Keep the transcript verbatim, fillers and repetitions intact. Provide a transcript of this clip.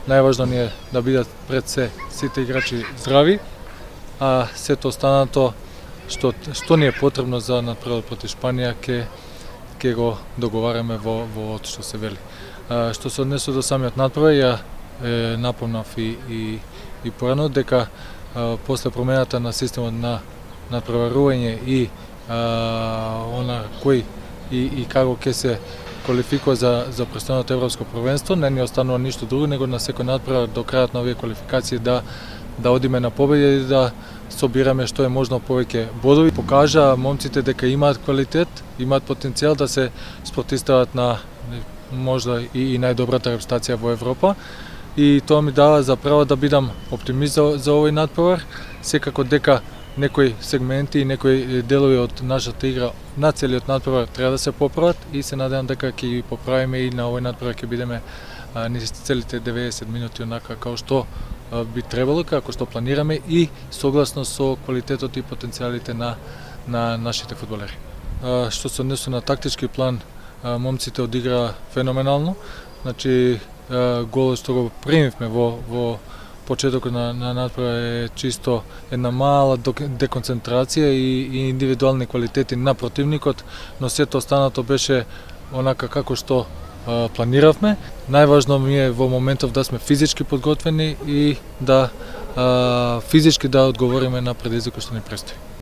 Најважно ни е да бидат пред се сите играчи здрави, а сето останато што што ни е потребно за надпреварот против Шпанија ќе ќе го договараме во во што се вели. А, што се однесува до самиот надпревар, ја е, напомнав и и и порано дека а, после промената на системот на надпреварување и а, она кој и и како ќе се квалификува за за престојното европско првенство, не ни останува ништо друго него на секој надпревар до крајот на овие квалификации да да одиме на победа и да собираме што е можно повеќе бодови. Покажа момците дека имаат квалитет, имаат потенцијал да се спротивстават на можда и, и најдобрата репстација во Европа. И тоа ми дава за право да бидам оптимист за, за овој надпревар. Секако дека некои сегменти и некои делови од нашата игра на целиот надпревар треба да се поправат и се надевам дека ќе ги поправиме и на овој надпревар ќе бидеме низ целите деветдесет минути онака како што би требало, како што планираме и согласно со квалитетот и потенцијалите на на нашите фудбалери. Што се однесува на тактички план, момците одиграа феноменално. Значи голот што го примивме во во почетокот на на надпревар е чисто една мала деконцентрација и, и индивидуални квалитети на противникот, но сето останато беше онака како што а, планиравме. Најважно ми е во моментов да сме физички подготвени и да а, физички да одговориме на предизвикот што ни престои.